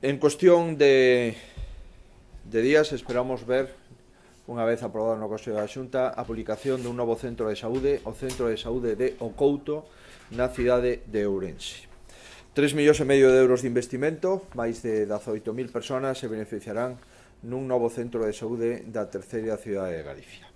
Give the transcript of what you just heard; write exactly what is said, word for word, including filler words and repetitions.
En cuestión de, de días esperamos ver, unha vez aprobado no Consello da Xunta, a publicación dun novo centro de saúde, o Centro de Saúde de O Couto, na cidade de Ourense. tres millóns e medio de euros de investimento, máis de dezaoito mil persoas se beneficiarán nun novo centro de saúde da terceira cidade de Galicia.